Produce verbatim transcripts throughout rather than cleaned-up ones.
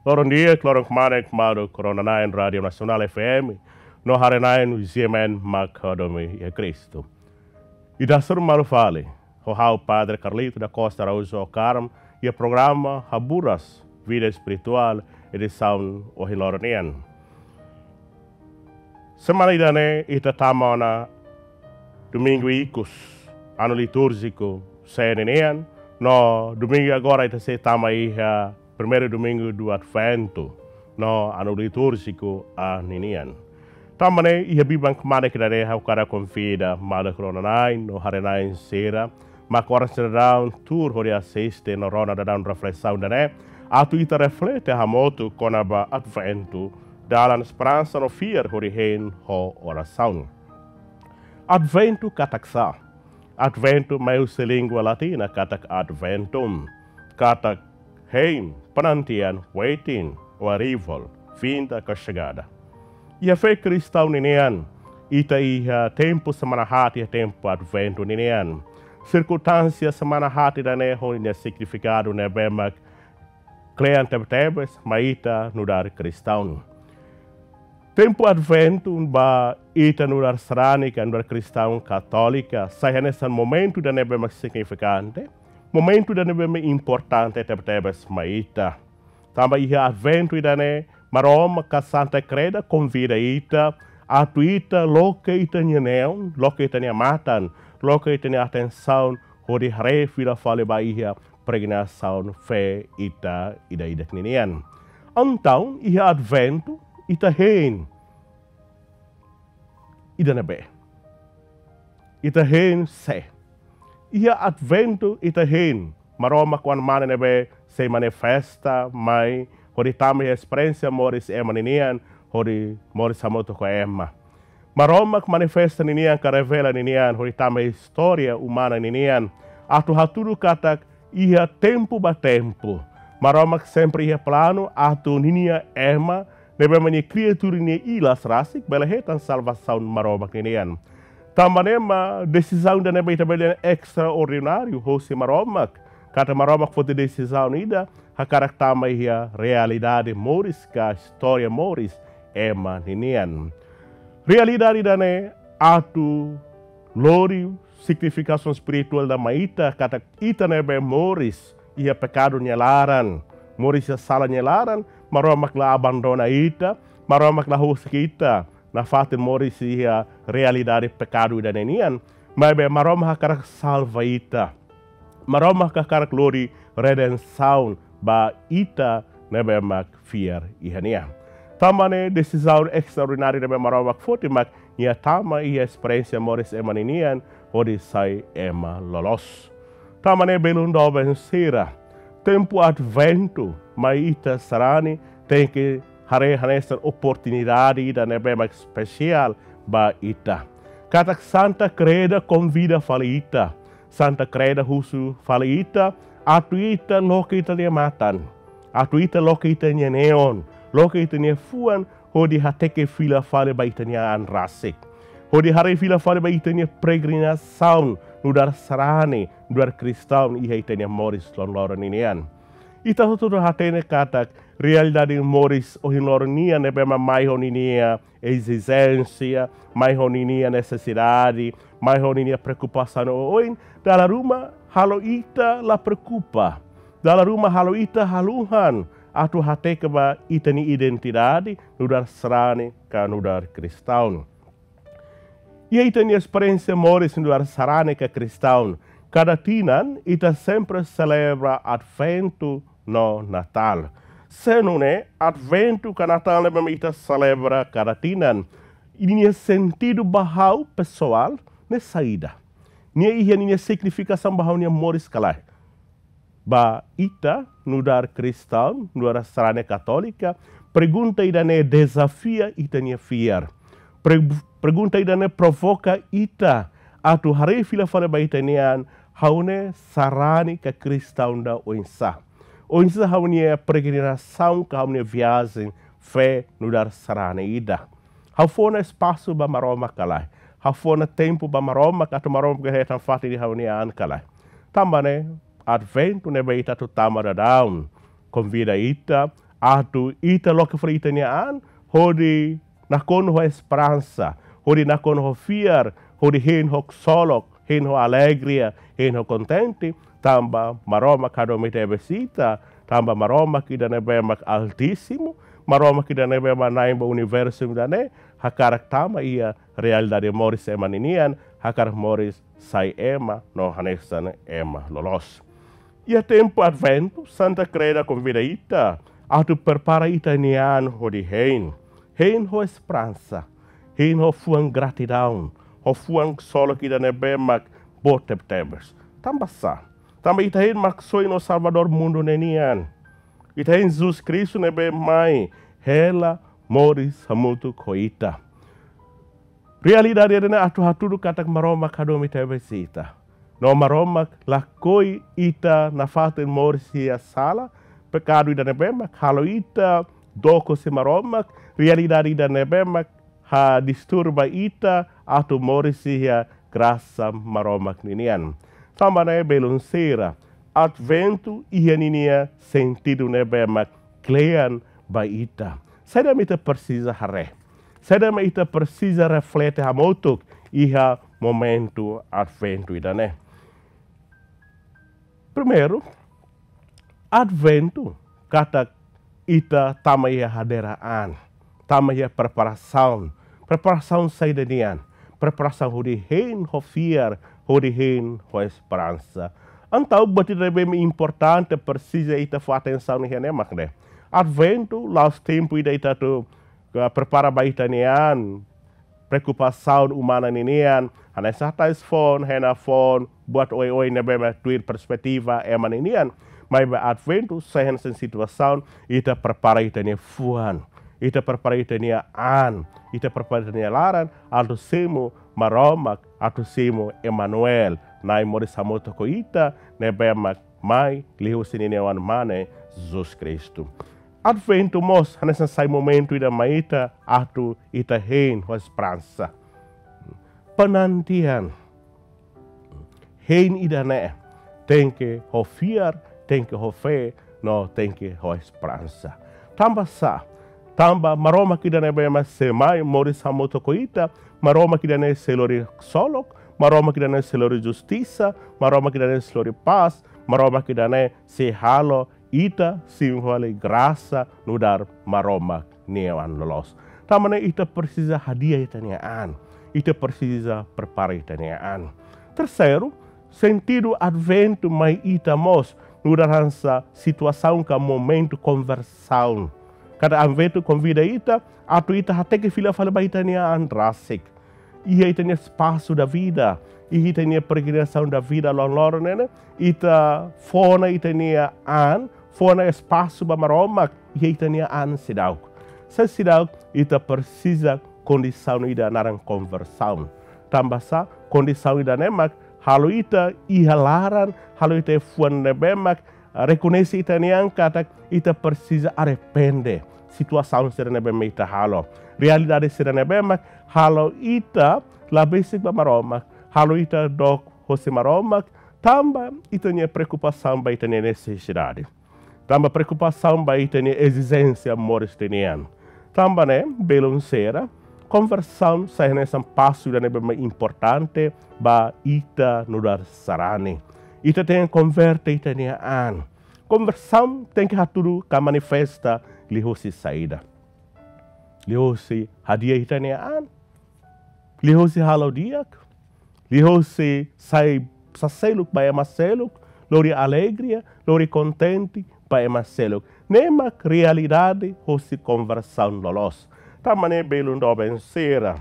Loron di'ak, loron kmanek maluk rona-na'in Rádiu Nasionál F M no haree-na'in G M N mak hadomi iha Kristu. Ida hasoru malu fali ho ha'u Padre Carlito da Costa Araújo Ocaram iha programa Haburas Vida Espirituál edisaun ohin loron nian. Semana ida-ne'e ita tama ona domingu ikus, ano litúrjiku C ninian, no domingu agora ita sei tama iha primeiru domingu do Adventu, no ano litúrjiku A ninian. Tanba ne'e, iha biban kmanek ida-ne'e ha'u hakarak konvida maluk rona-na'in no haree-na'in sira mak oras daudaun tuur hodi asiste no rona daudaun reflesaun ida-ne'e, atu ita reflete hamutuk kona-ba Adventu, dalan esperansa no fiar hodi hein ho orasaun. Adventu katak sá? Adventu mai husi língua latina katak adventum, katak hein, penantian, waiting, o arrival, vinda ka chegada. Iha fé kristaun ninian, ita iha tempu semana haat iha tempu Adventu ninian. Sirkunstánsia semana haat ida-ne'e ho nia signifikadu ne'ebé mak kle'an tebetebes mai ita nu'udar kristaun. Tempu Adventu ba ita nu'udar sarani ka nu'udar kristaun katólika, sai hanesan momentu ida ne'ebé mak signifikante, momentu ida ne'ebé mak importante tebetebes mai ita. Tanba iha Adventu ida-ne'e, Maromak ka Santa Kreda konvida ita, atu ita loke ita-nia neon, loke ita-nia matan, loke ita-nia atensaun, hodi haree fila fali ba iha peregrinasaun fé ita ida-idak ninian. Entaun, iha Adventu, ita hein ida ne'ebé? Ita hein sé? Iha Adventu ita hein Maromak Oan-Mane ne'ebé sei manifesta mai hodi tama iha esperiénsia moris ema ninian, hodi moris hamutuk ho ema. Maromak manifesta ninian ka revela ninian hodi tama iha istória umana ninian, atu hatudu katak iha tempu ba tempu, Maromak sempre iha planu atu ninia ema ne'ebé mak nia kriatura nia ilas rasik bele hetan salvasaun Maromak ninian. Tanba ne'e mak desizaun ida ne'ebé ita bele dehan estraordináriu hosi Maromak, katak Maromak foti desizaun ida hakarak tama iha realidade moris ka istória moris ema ninian. Realidade ida-ne'e atu lori signifikasaun espirituál ida mai ita, katak ita ne'ebé moris iha pekadu nia laran, moris iha sala nia laran, Maromak la abandona ita, Maromak la husik ita nafatin moris iha realidade pekadu ida-ne'e nian, maibé Maromak hakarak salva ita. Maromak hakarak lori redensaun ba ita ne'ebé mak fiar iha nia. Tanba ne'e desizaun estraordináriu ne'ebé Maromak foti mak nia tama iha esperiénsia moris ema ninian hodi sai ema loloos. Tanba ne'e belun doben sira, tempu Adventu mai ita sarani tenke haree hanesan oportunidade ida ne'ebé mak espesiál ba ita. Katak Santa Kreda konvida fali ita, Santa Kreda husu fali ita, atu ita loke ita-nia matan, atu ita loke ita-nia neon, loke ita-nia fuan, hodi hateke fila fali ba ita-nia an rasik, hodi haree fila fali ba ita-nia peregrinasaun nu'udar sarani, nu'udar kristaun iha ita-nia moris loron-loron ninian. Ita hotu-hotu hatene katak realidade moris ohin loron nian ne'ebé mak mai ho ninia ezijénsia, mai ho ninia nesesidade, mai ho ninia preokupasaun oioin, dala ruma halo ita la preokupa. Dala ruma halo ita haluhan atu hateke ba ita-nia identidade nu'udar sarani ka nu'udar kristaun. Iha ita-nia esperiénsia moris nu'udar sarani ka kristaun, kada tinan ita sempre selebra Adventu no Natál. Se nune'e Adventu ka Natál ne'ebé mak ita selebra kada tinan, ninia sentidu ba ha'u pesoál ne'e saida? Nia iha ninia signifikasaun ba ha'u-nia moris ka lae? Ba ita nu'udar kristaun, nu'udar sarani katólika, pergunta ida-ne'e dezafia ita-nia fiar. Pre-, pergunta ida-ne'e provoka ita atu haree fila fali ba ita-nia an, ha'u ne'e sarani ka kristaun ida oinsá? Oinsá ha'u-nia peregrinasaun ka ha'u-nia viajen fé nu'udar sarani ida? Ha'u fó ona espasu ba Maromak ka lae? Ha'u fó ona tempu ba Maromak atu Maromak hetan fatin iha ha'u-nia an ka lae? Tanba ne'e Adventu ne'ebé ita atu tama daudaun konvida ita atu ita loke fali ita-nia an, hodi nakonu ho esperansa, hodi nakonu ho fiar, hodi hein ho ksolok, hein ho alegria, hein ho kontente, tanba Maromak hadomi tebes ita, tanba Maromak ida ne'ebé mak Altísimu, Maromak ida ne'ebé mak Na'in ba universu ida-ne'e, hakarak tama iha realidade moris ema ninian, hakarak moris sai ema, no hanesan ema loloos. Iha tempu Adventu, Santa Kreda konvida ita atu prepara ita-nia an hodi hein. Hein ho esperansa, hein ho fuan gratidaun, ho fuan ksolok ida ne'ebé mak boot tebetebes. Tanba sá? Tanba ita hein Maksoin no Salvadór mundu ne'e nian. Ita hein Jesus Kristu ne'ebé mai hela moris hamutuk ho ita. Realidade ida-ne'e atu hatudu katak Maromak hadomi tebes ita. No Maromak lakohi ita nafatin moris iha sala, pekadu ida ne'ebé mak halo ita dook husi Maromak, realidade ida ne'ebé mak hadisturba ita atu moris iha grasa Maromak ninian. Tanba ne'e belun sira, Adventu iha ninia sentidu ne'ebé mak kle'an ba ita. Saida mak ita presiza haree? Saida mak ita presiza reflete hamutuk iha momentu Adventu ida-ne'e? Primeiru, Adventu katak ita tama iha hadi'a an, tama iha preparasaun. Preparasaun saida nian? Preparasaun hodi hein ho fiar, hodi hein ho esperansa. Entaun buat ida ne'ebé importante presiza ita fó atensaun iha ne'e mak ne'e. Adventu la'ós tempu ida ita atu, eh, prepara ba ita-nia an, preokupasaun umana ninian, hanesan hatais foun, hena foun, buat oioin ne'ebé mak tuir perspetiva ema ninian. Maibé Adventu sai hanesan situasaun ita prepara ita-nia fuan, ita prepara ita-nia an, ita prepara ita-nia laran, atu simu Maromak, atu simu Emanuel, Na'i moris hamutuk ho ita, ne'ebé mak mai liuhusi ninia Oan-Mane, Jesus Kristu. Adventu mós hanesan sai momentu ida mai ita atu ita hein ho esperansa. Penantian, hein ida-ne'e tenke ho fiar, tenke ho fé, no tenke ho esperansa. Tanba sá? Tanba Maromak ida ne'ebé mak sei mai moris hamutuk ho ita, Maromak ida-ne'e sei lori ksolok, Maromak ida-ne'e sei lori justisa, Maromak ida-ne'e sei lori pás, Maromak ida-ne'e sei halo ita simu fali grasa nu'udar Maromak nia oan loloos. Tanba ne'e ita presiza hadi'a ita-nia an. Ita presiza prepara ita-nia an. Terseiru, sentidu Adventu mai ita mós nu'udar hanesan situasaun ka momentu konversaun. Katak Adventu konvida ita atu ita hateke fila fali ba ita-nia an rasik. Iha ita-nia espasu da vida, iha ita-nia peregrinasaun da vida loron-loron ne'e, ita fó ona ita-nia an, fó ona espasu ba Maromak iha ita-nia an seidauk. Se seidauk, ita presiza kondisaun ida naran konversaun. Tanba sá? Kondisaun ida-ne'e mak halo ita iha laran, halo ita iha fuan ne'ebé mak rekoñese ita-nia an katak ita presiza arrepende situasaun sira ne'ebé mak ita halo. Realidade sira ne'ebé mak halo ita la besik ba Maromak, halo ita dook hosi Maromak, tanba ita-nia preokupasaun ba ita-nia nesesidade. Tanba preokupasaun ba ita-nia ezijénsia moris ida nian. Tanba ne'e, belun sira, konversaun sai hanesan pasu ida ne'ebé mak importante ba ita nu'udar sarani. Ita tenke konverte ita-nia an. Konversaun tenke hatudu ka manifesta liuhusi saida? Liuhusi hadi'a ita-nia an, liuhusi halo di'ak, liuhusi sai saseluk ba ema seluk, lori alegria, lori kontente ba ema seluk. Ne'e mak realidade hosi konversaun loloos. Tanba ne'e belun doben sira,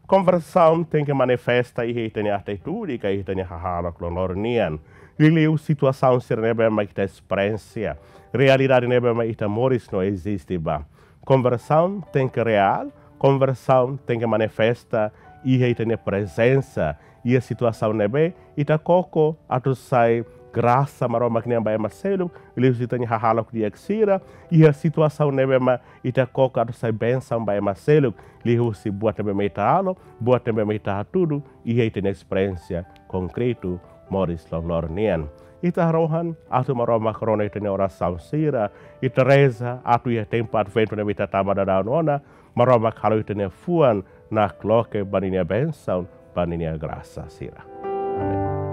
konversaun tenke manifesta iha ita-nia atitude ka ita-nia hahalok loron-loron nian. Liuliu situasaun sira ne'ebé mak ita esperiénsia, realidade ne'ebé mak ita moris no eziste ba. Konversaun tenke reál, konversaun tenke manifesta iha ita-nia prezensa, iha situasaun ne'ebé ita koko atu sai grasa Maromak nian ba ema seluk, liuhusi ita-nia hahalok di'ak sira, iha situasaun ne'ebé mak ita koko atu sai bensaun ba ema seluk, liuhusi buat ne'ebé mak ita halo, buat ne'ebé mak ita hatudu, iha ita-nia esperiénsia konkretu moris loron-loron nian. Ita harohan atu Maromak rona ita-nia orasaun sira, ita reza atu iha tempu Adventu ne'ebé ita tama daudaun ona, Maromak halo ita-nia fuan nakloke ba ninia bensaun, ba ninia grasa sira. Amen.